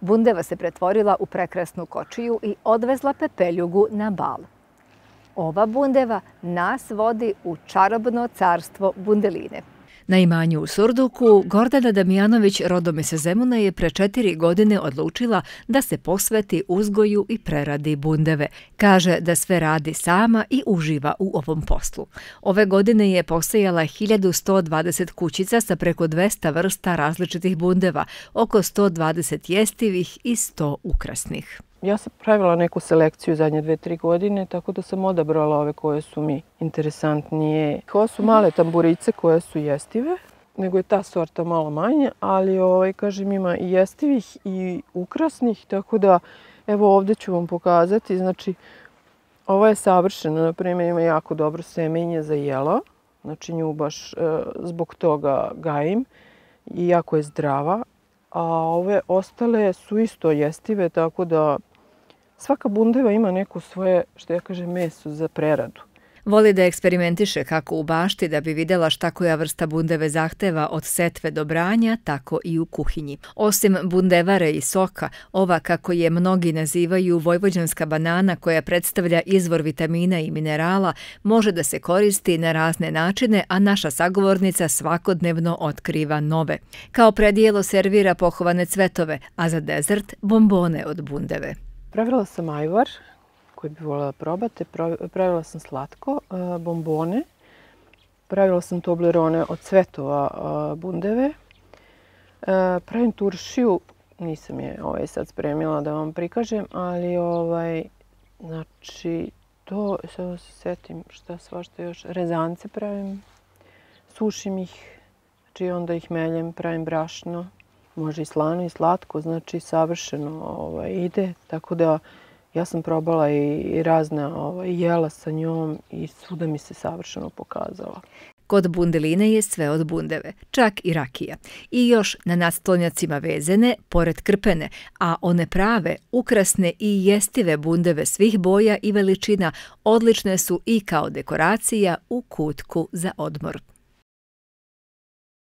Bundeva se pretvorila u prekrasnu kočiju i odvezla pepeljugu na bal. Ova bundeva nas vodi u čarobno carstvo bundeline. Na imanju u Surduku, Gordana Damjanović, rodom iz Zemuna, je pre 4 godine odlučila da se posveti uzgoju i preradi bundeve. Kaže da sve radi sama i uživa u ovom poslu. Ove godine je posejala 1120 kućica sa preko 200 vrsta različitih bundeva, oko 120 jestivih i 100 ukrasnih. Ja sam pravila neku selekciju zadnje 2-3 godine, tako da sam odabrala ove koje su mi interesantnije. Ovo su male tamburice koje su jestive, nego je ta sorta malo manje, ali kažem, ima i jestivih i ukrasnih, tako da evo ovdje ću vam pokazati. Znači, ovo je savršeno, na primjer ima jako dobro semenje za jelo, znači nju baš zbog toga gajim i jako je zdrava. A ove ostale su isto jestive, tako da svaka bundeva ima neko svoje, što ja kažem, meso za preradu. Voli da eksperimentiše kako u bašti da bi vidjela šta koja vrsta bundeve zahteva od setve do branja, tako i u kuhinji. Osim bundevare i soka, ova, kako je mnogi nazivaju, vojvođanska banana koja predstavlja izvor vitamina i minerala, može da se koristi na razne načine, a naša sagovornica svakodnevno otkriva nove. Kao predjelo servira pohovane cvetove, a za dezert bombone od bundeve. Pravila sam ajvar koji bi voljela probati. Pravila sam slatko, bombone. Pravila sam toblerone od cvetova bundeve. Pravim turšiju, nisam je sad spremila da vam prikažem, ali znači to, sad se setim šta svašta još, rezance pravim, sušim ih, znači onda ih meljem, pravim brašno, može i slano i slatko, znači savršeno ide, tako da ja sam probala i razna jela sa njom i svuda mi se savršeno pokazala. Kod bundeline je sve od bundeve, čak i rakija. I još na nadstolnjacima vezene, pored krpene, a one prave, ukrasne i jestive bundeve svih boja i veličina odlične su i kao dekoracija u kutku za odmor.